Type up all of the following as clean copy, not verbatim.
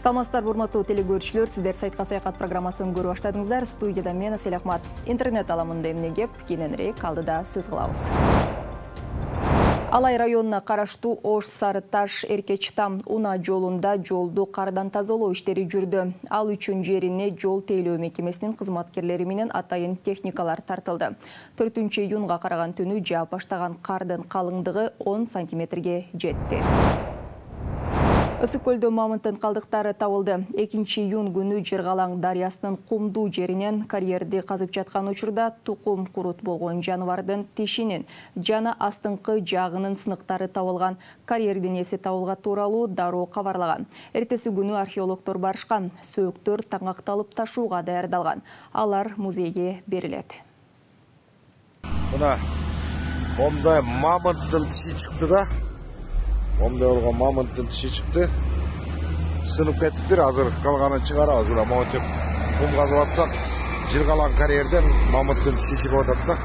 Саламатсыздар, урматтуу телекөрүүчүлөр, сиздер сайтка саякат программасын көрүп баштадыңыздар. Студияда мен Асель Ахмат. Интернет аламында эмне кеп, кийинирээк алдыда сөз кылабыз. Алай районуна караштуу Ош Сары Таш Эркечтам унаа жолунда жолду кардан тазалоо иштери жүрдү. Ал үчүн жерине жол тейлөө мекемесинин кызматкерлери менен атайын техникалар тартылды. 4-июнга караган түнү жаап баштаган кардын калыңдыгы 10 сантиметрге жетти. Ысык көлдө мамонттун калдыктары табылды. 2-июн күнү Жыргалаң дарыясынын кумдуу жеринен карьерди казып жаткан учурда тукум курут болгон жаныбардын тишинин жана астыңкы жагынын сыныктары табылган. Карьердин эси табылга тууралуу дароо кабарлаган. Эртеси күнү археологдор барышкан. Сөөктөр таңакталып ташууга даярдалган. Алар музейге берилет. Мына момда мамонттун тиши чыкты да. Момда болгон мамонттун тиши чыкты. Сынып кетиптир. Азыр калганын чыгарабыз. Мына монтип кум казып атсак, Жыргалаң карьерден мамонттун тиши чыгып атат да.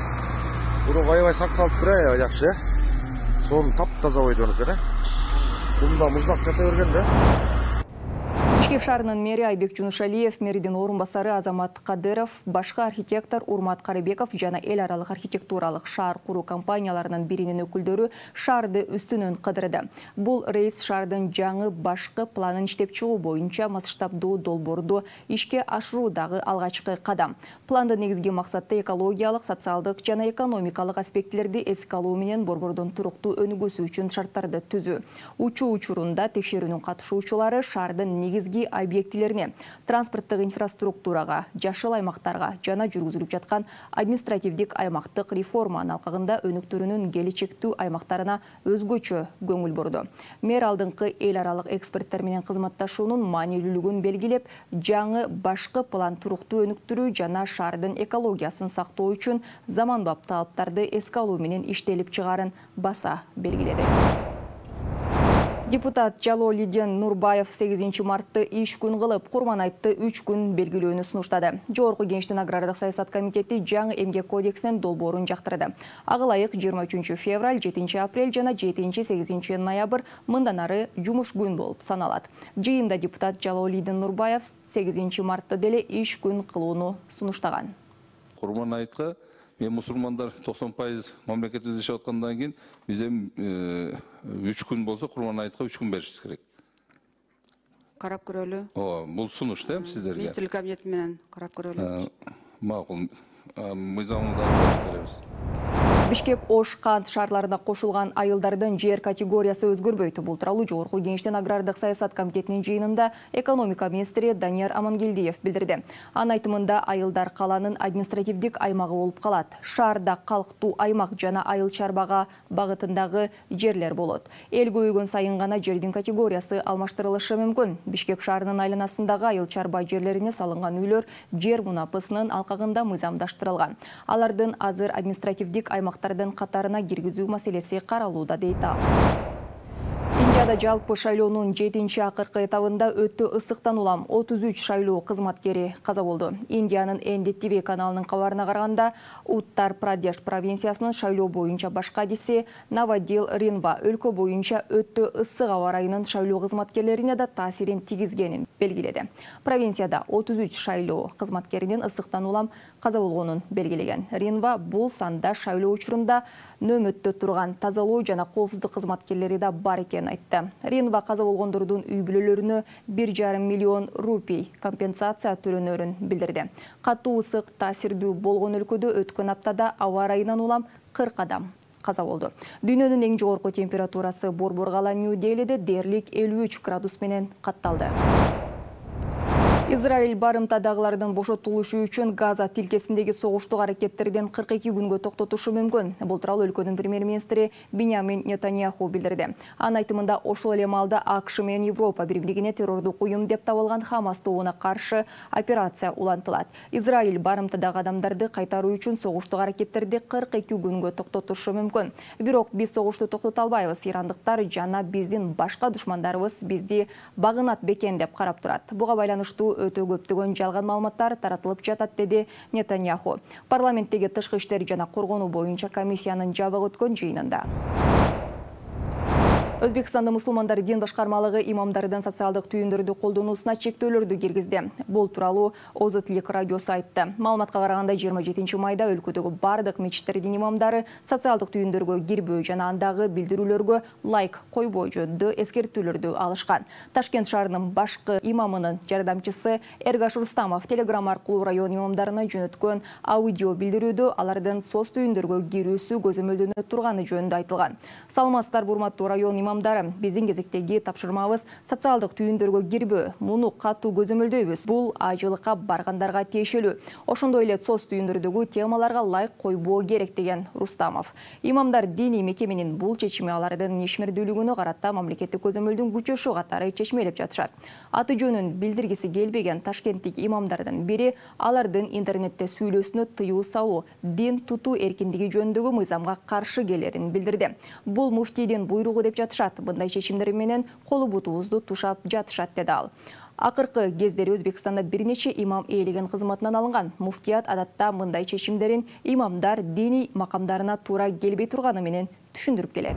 Буну аябай сакталыптыр, жакшы. Сонун таптаза койду экен. Кумда муздак жата берген да. Бишкек шаарынын мэри Айбек Жунушалиев, мэридин орун басары Азамат Кадыров, башка архитектор Урмат Карыбеков жана эл аралык архитектуралык шаар куруу компанияларынын биринин өкүлдөрү шаарды үстүнөн кыдырды. Бул рейс шаардын жаңы башкы планын иштеп чыгуу боюнча масштабдуу долбоорду ишке ашыруудагы алгачкы кадам. Пландын негизги максаты экологиялык, социалдык жана экономикалык аспектилерди эске алуу менен борбордун туруктуу өнүгүүсү үчүн шарттарды түзүү. Учуу учурунда текшерүүнүн катышуучулары шаардын негизги объектилерине, транспорттук инфраструктурага, жашыл аймактарга жана жүргүзүлүп жаткан административдик аймактык реформанын алкагында өнүктөрүнүн келечектүү аймактарына өзгөчө көңүл бурду. Мэр алдыңкы эл аралык эксперттер менен кызматташуунун маанилүүлүгүн белгилеп, жаңы башкы план туруктуу өнүктүрүү жана шаардын экологиясын сактоо үчүн заманбап талаптарды эске алуу менен иштелип чыгаарын баса белгиледи. Депутат Жалолидин Нурбаев 8 мартты иш күн кылып, Курманайтты 3 күн белгилөөнү сунуштады. Жогорку Кеңештин агрардык саясат комитети жаңы эмгек кодексинин долбоорун жактырды. Ага ылайык 23 февраль, 7 апрель жана 7-8 ноябрь мындан ары жумуш күн болуп саналат. Жыйында депутат Жалолидин Нурбаев 8 мартты деле иш күн кылууну сунуштаган. Курманайтка мен мусулмандар 90% мамлекетибизде жашап аткандан кийин биз эми 3 күн болсо Курманайтка 3 күн беришибиз керек. Карап көрөлү. Бул сунуш да сиздерге. Министрлик кабинети менен карап көрөлү. Макул. Мыйзамыбызды алып беребиз. Бишкек Ош Кант шаарларына кошулган айылдардын жер категориясы өзгөрбөйт. Бул тууралуу Жогорку Кеңештин агрардык саясат комитетинин жыйынында экономика министри Данияр Амангелдиев билдирди. Анын айтымында айылдар каланын административдик аймагы болуп калат. Шаарда калктуу аймак жана айыл чарбага багытындагы жерлер болот. Эл көбөйгөн сайын гана жердин категориясы алмаштырылышы мүмкүн. Бишкек шаарынын айланасындагы айыл чарба жерлерине салынган үйлөр жер мунапысынын алкагында мыйзамдаштырылган. Алардын азыр административдик аймактардын катарына киргизүү маселеси каралууда дейт ал. Индияда жалпы шайлоонун 7-акыркы этабында өтө ысыктан улам 33 шайлоо кызматкери каза болду. Индиянын NDTV каналынын кабарына караганда, Уттар Прадеш провинциясынын шайлоо боюнча башка адиси Навадил Ринва өлкө боюнча өтө ысык аба ырайынын шайлоо кызматкерлерине да таасирин тийгизгенин белгиледи. Провинцияда 33 шайлоо кызматкеринин ысыктан улам каза болгонун белгилеген. Ринва бул санда шайлоо учурунда нөмөттө турган тазалоо жана коопсуздук кызматкерлери да бар экенин айтты. Ринва каза болгондордун үй бүлөлөрүнө 1,5 миллион рупий компенсация төлөнөрүн билдирди. Катуу ысык таасирдүү болгон өлкөдө өткөн аптада аба ырайынан улам 40 адам каза болду. Дүйнөнүн эң жогорку температурасы борбор кала Нью-Делиде дээрлик 53 градус менен катталды. Израиль барымтадагылардын бошотулушу үчүн Газа тилкесиндеги согуштук аракеттерден 42 күнгө токтотушу мүмкүн. Бул тууралуу өлкөнүн премьер-министри Биньямин Нетаньяху билдирди. Анын айтымында ошол эле маалда АКШ менен Европа биримдигине террордук уюм деп табылган Хамас тобуна каршы операция улантылат. Израиль барымтадагы адамдарды кайтаруу үчүн согуштук аракеттерди 42 күнгө токтотушу мүмкүн. Бирок биз согушту токтото албайбыз. Ирандыктар жана биздин башка душмандарыбыз бизди багынат бекен деп карап турат. Буга байланыштуу өтө көптөгөн жалган маалыматтар таратылып жатат, деди Нетаньяху. Парламенттеги тышкы иштер жана коргонуу боюнча комиссиянын жабык өткөн жыйынында. Өзбекстанда мусулмандар дин башкармалыгы имамдардын социалдык түйүндөрдү колдонуусуна чектөөлөрдү киргизди. Бул тууралуу Озотлик радиосу айтты. Маалыматка караганда 27 майда өлкөдөгү бардык мечиттердин имамдары социалдык түйүндөргө кирбөө жана андагы билдирүүлөргө лайк койбоо жөнүндө эскертүүлөрдү алышкан. Ташкент шаарынын башкы имамынын жардамчысы Эргаш Рустамов телеграм аркылуу район имамдарына жөнөткөн аудио билдирүүдө алардын соц түйүндөргө кирүүсү көзөмөлдөнө турганы жөнүндө айтылган. Саламатсыздар, урматтуу район имамдары, биздин кезектеги тапшырмабыз социалдык түйүндөргө кирбөө. Муну катуу көзөмөлдөйбүз. Бул ажылыкка баргандарга тиешелүү. Ошондой эле соц түйүндөрдөгү темаларга лайк койбоо керек, деген Рустамов. Имамдар диний мекеменин бул чечими алардын ишмердүүлүгүнө карата мамлекеттик көзөмөлдүн күчөшү катары чечмелеп жатышат. Аты жөнүн билдиргиси келбеген ташкенттик имамдардын бири алардын интернетте сүйлөөсүнө тыюу салуу, дин тутуу эркиндиги жөнүндөгү мыйзамга каршы келерин билдирди. Бул муфтийдин буйругу деп жатышат. Мындай чечимдер менен колу бутубузду тушап жатышат, деди ал. Акыркы кездери Өзбекстанда бир нече имам ээлеген кызматынан алынган. Муфтият адатта мындай чечимдерин имамдар диний макамдарына туура келбей турганы менен түшүндүрүп келет.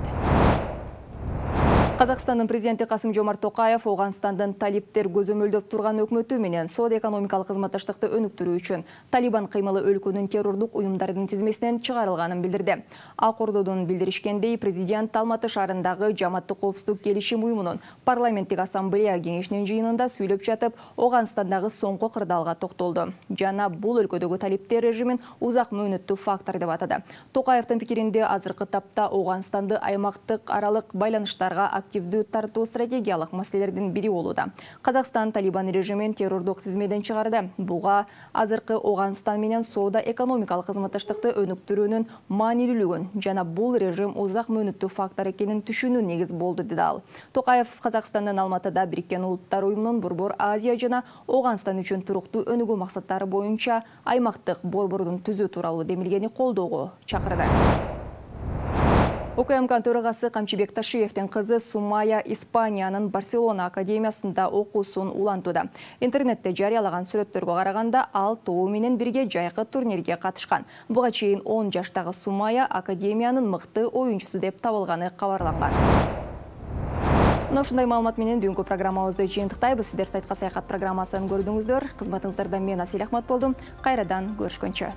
Казакстандын президенти Касым-Жомарт Токаев Оганстандын талиптер көзөмөлдөп турган өкмөтү менен соода-экономикалык кызматташтыкты өнүктүрүү үчүн Талибан кыймылы өлкөнүн террордук уюмдардын тизмесинен чыгарылганын билдирди. Ак Ордодон билдиришкендей, президент Алматы шаарындагы Жаматтык коопсуздук келишим уюмунун парламенттик ассамблея кеңешинин жыйынында сүйлөп жатып, Оганстандагы соңку кырдаалга токтолду. Жана бул өлкөдөгү талиптер режимин узак мөөнөттүү фактор деп атады. Токаевдин пикиринде азыркы тапта Оганстанды аймактык аралык байланыштарга активдүү тартуу стратегиялык маселелердин бири болууда. Казакстан Талибан режимин террордук тизмеден чыгарды. Буга азыркы Оганстан менен соода-экономикалык кызматташтыкты өнүктүрүүнүн маанилүүлүгүн жана бул режим узак мөөнөттүү фактор экенин түшүнүү негиз болду, деди ал. Токаев Казакстандын Алматыда Бириккен Улуттар уюмунун Борбор Азия жана Оганстан үчүн туруктуу өнүгүү максаттары боюнча аймактык борбордун түзүү тууралуу демилгени колдоого чакырды. УКМК төрагасы Камчыбек Ташиевдин кызы Сумая Испаниянын Барселона академиясында окуусун улантууда. Интернетте жарыялаган сүрөттөргө караганда, ал тобу менен бирге жайкы турнирге катышкан. Буга чейин 10 жаштагы Сумая академиянын мыкты оюнчусу деп табылганы кабарланган. Ушундай маалымат менен бүгүнкү программабызды жыйынтыктайбыз. Сиздер сайтка саякат программасын көрдүңүздөр. Кызматыңыздарда мен Асель Ахмат болдум. Кайрадан көрүшкөнчө.